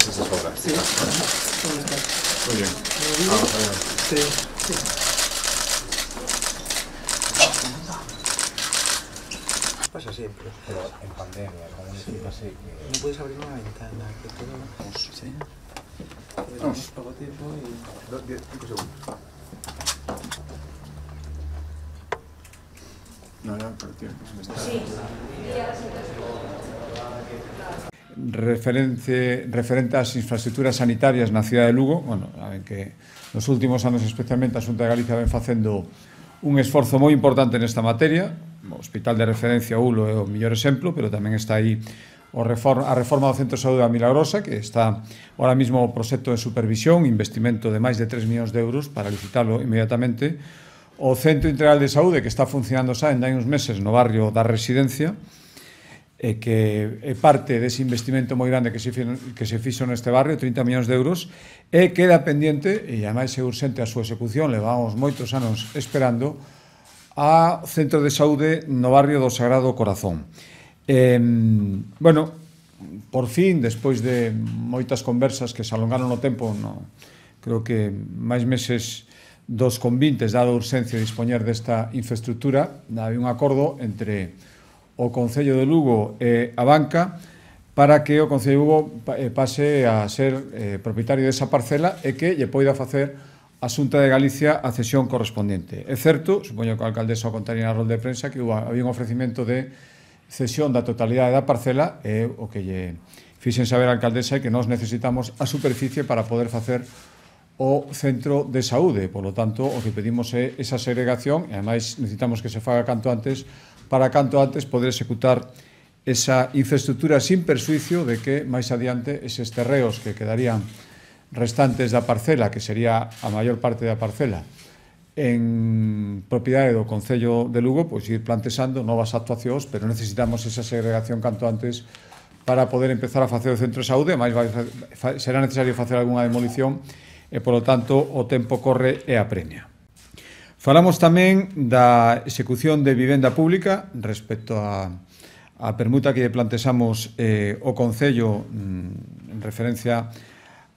esas obras. Sí. Muy bien. Sí. Sí. Pasa siempre. Pero en pandemia, como decimos así, No puedes abrir una ventana, que todo... Sí. Tenemos poco tiempo y... 5 segundos. No, pero tiempo. Sí. Referente ás infraestructuras sanitarias na cidade de Lugo, bueno, saben que nos últimos anos especialmente a Xunta de Galicia ven facendo un esforzo moi importante nesta materia. O Hospital de Referencia Ulo é o mellor exemplo, pero tamén está aí a reforma do Centro de Saúde da Milagrosa, que está ahora mismo o proxecto de supervisión, investimento de máis de 3 millóns de euros para licitarlo inmediatamente. O Centro Integral de Saúde, que está funcionando xa en hai uns meses no barrio da Residencia, que é parte dese investimento moi grande que se fixo neste barrio, 30 millóns de euros, e queda pendiente, e ademais é urxente a súa execución, levamos moitos anos esperando, a Centro de Saúde no barrio do Sagrado Corazón. Bueno, por fin, despois de moitas conversas que se alongaron no tempo, creo que máis meses dos convintes, dado a urxencia de dispoñer desta infraestructura, había un acordo entre o Concello de Lugo e a banca para que o Concello de Lugo pase a ser propietario desa parcela e que lle poida facer a Xunta de Galicia a cesión correspondiente. É certo, supoño que a alcaldesa o contaría na rolda de prensa, que había un ofrecimento de cesión da totalidade da parcela e o que lle fixen saber a alcaldesa é que nós necesitamos a superficie para poder facer o centro de saúde. Por lo tanto, o que pedimos é esa segregación e, ademais, necesitamos que se faga canto antes para canto antes poder executar esa infraestructura sin persuicio de que, máis adiante, eses terreos que quedarían restantes da parcela, que sería a maior parte da parcela, en propiedade do Concello de Lugo, pois ir plantexando novas actuacións, pero necesitamos esa segregación canto antes para poder empezar a facer o centro de saúde, máis será necesario facer algunha demolición e, polo tanto, o tempo corre e apremia. Falamos tamén da execución de vivenda pública respecto a permuta que plantexamos o Concello en referencia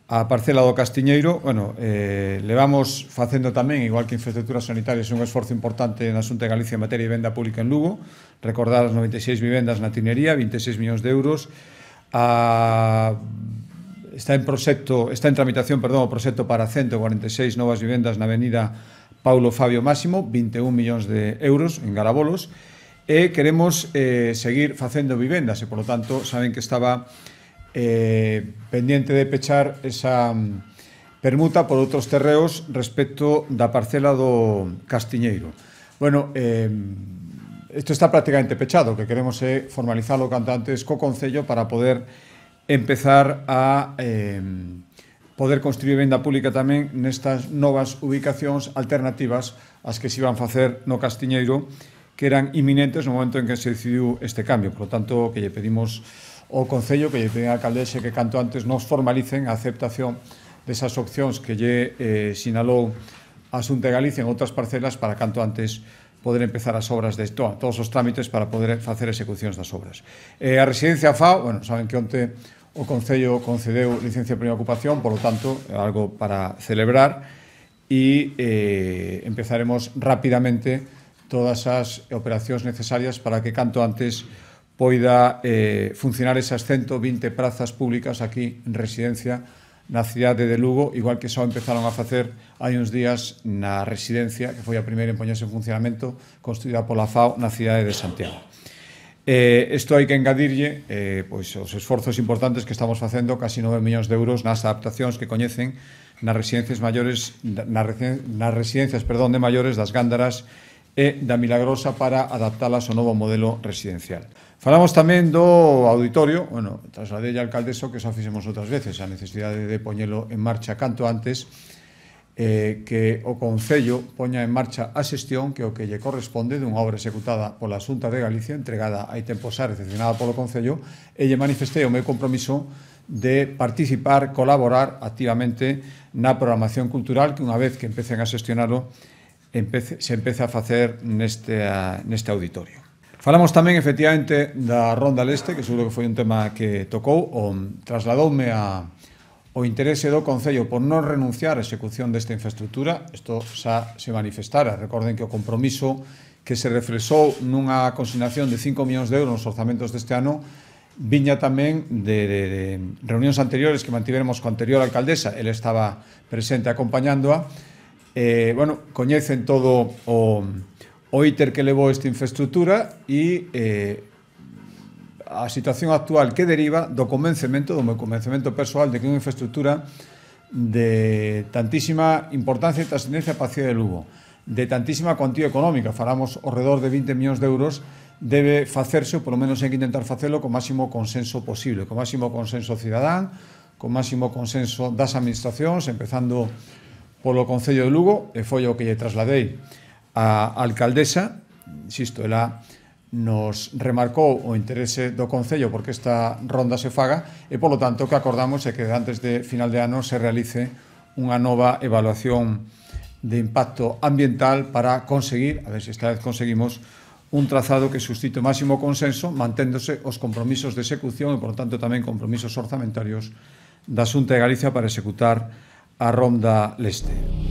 a parcela do Castiñeiro. Bueno, levamos facendo tamén, igual que infraestructuras sanitarias, un esforzo importante na Xunta de Galicia en materia de vivenda pública en Lugo. Recordar as 96 vivendas na Tinería, 26 millóns de euros. Está en tramitación, o proxecto para 146 novas vivendas na avenida Paulo Fabio Máximo, 21 millóns de euros en Garabolos, e queremos seguir facendo vivendas e, polo tanto, saben que estaba pendiente de pechar esa permuta por outros terreos respecto da parcela do Castiñeiro. Bueno, isto está prácticamente pechado, o que queremos é formalizarlo canto antes co Concello para poder empezar a poder construir vivenda pública tamén nestas novas ubicacións alternativas ás que se iban facer no Castiñeiro, que eran inminentes no momento en que se decidiu este cambio. Por lo tanto, que lle pedimos ao Concello, que lle pedimos ao alcaldese que canto antes nos formalicen a aceptación desas opcións que lle sinalou a Xunta de Galicia en outras parcelas para canto antes poder empezar as obras de todos os trámites para poder facer execucións das obras. A residencia FAO, bueno, saben que onte o Concello concedeu licencia de primeira ocupación, por lo tanto, é algo para celebrar e empezaremos rapidamente todas as operacións necesarias para que canto antes poida funcionar esas 120 prazas públicas aquí en residencia na cidade de Lugo, igual que só empezaron a facer hai uns días na residencia, que foi a primeira en poñerse en funcionamento, construída pola FAO na cidade de Santiago. Isto hai que engadirlle os esforzos importantes que estamos facendo, casi 9 millóns de euros nas adaptacións que coñecen nas residencias de maiores das Gándaras e da Milagrosa para adaptalas ao novo modelo residencial. Falamos tamén do auditorio, bueno, trasladei a alcaldeso que xa fixemos outras veces, a necesidade de poñelo en marcha canto antes, que o Concello poña en marcha a xestión que o que lle corresponde dunha obra executada pola Xunta de Galicia, entregada hai tempo xa, recepcionada polo Concello, e lle manifestei o meu compromiso de participar, colaborar activamente na programación cultural que unha vez que empecen a xestionarlo se empeza a facer neste auditorio. Falamos tamén, efectivamente, da Ronda Leste, que seguro que foi un tema que tocou, trasladoume a o interese do Concello por non renunciar á execución desta infraestructura, isto xa se manifestara. Recorden que o compromiso que se reflexou nunha consignación de 5 millóns de euros nos orzamentos deste ano viña tamén de reunións anteriores que mantiveremos coa anterior alcaldesa, ele estaba presente acompañándoa. Coñecen todo o íter que levou esta infraestructura e a situación actual que deriva do convencemento, do meu convencemento persoal de que é unha infraestructura de tantísima importancia e trascendencia para a cidade de Lugo, de tantísima cuantía económica, falamos ao redor de 20 millóns de euros, debe facerse, ou polo menos hai que intentar facelo con máximo consenso posible, con máximo consenso cidadán, con máximo consenso das administracións, empezando polo Concello de Lugo, e foi o que lle trasladei á alcaldesa. Insisto, ela nos remarcou o interese do Concello porque esta ronda se faga e, polo tanto, o que acordamos é que antes de final de ano se realice unha nova evaluación de impacto ambiental para conseguir, a ver se esta vez conseguimos, un trazado que suscite o máximo consenso, manténdose os compromisos de execución e, por tanto, tamén compromisos orzamentarios da Xunta de Galicia para executar a Ronda Leste.